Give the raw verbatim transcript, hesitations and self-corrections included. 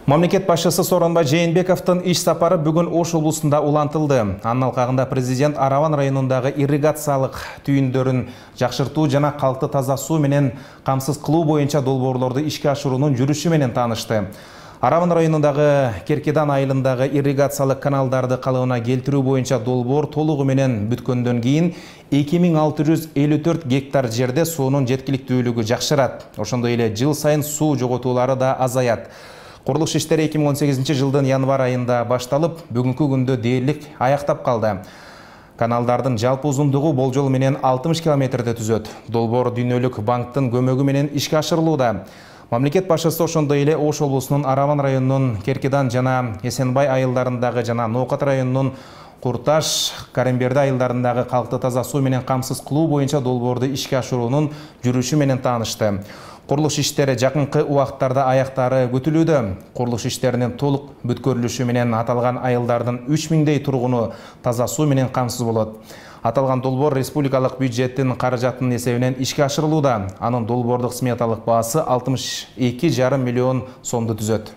Мамлекет башчысы Сооронбай Жээнбековдун иш сапары бүгүн Ош облусунда улантылды. Анын алкагында президент Араван районундагы ирригациялык түйүндөрүн жакшыртуу жана калкты таза суу менен камсыз кылуу боюнча долбоорлорду ишке ашыруунун жүрүшү менен таанышты. Араван районундагы Керкедан айылындагы ирригациялык каналдарды калыбына келтирүү боюнча долбоор толугу менен бүткөндөн кийин эки миң алты жүз элүү төрт гектар жерде суунун жеткиликтүүлүгү жакшырат. Ошондой эле жыл сайын суу жоготуулары да азаят. Курулуш иштери эки миң он сегизинчи жылдын январь айында башталып, бүгүнкү күндө дээрлик аяктап калды. Каналдардын жалпы узундугу болжол менен алтымыш километрди түзөт. Долбоор Дүйнөлүк банктын көмөгү менен ишке ашырылууда. Мамлекет башчысы ошондой эле Ош облусунун Араван районунун Керкедан жана Эсенбай айылдарындагы жана Ноокат районунун Курташ, Каремберди айылдарындагы калкты таза суу менен камсыз кылуу боюнча долбоорду ишке ашыруунун жүрүшү менен таанышты. Курулуш иштери жакынкы убакыттарда аяктары күтүлүүдө. Курулуш иштеринин толук бүткөрүлүшү менен аталган айылдардын үч миңдей тургуну таза суу менен камсыз болот. Аталган долбоор республикалык бюджеттин каражатынын эсебинен ишке ашырылууда. Анын долбоордук сметалык баасы алтымыш эки жарым миллион сомду түзөт.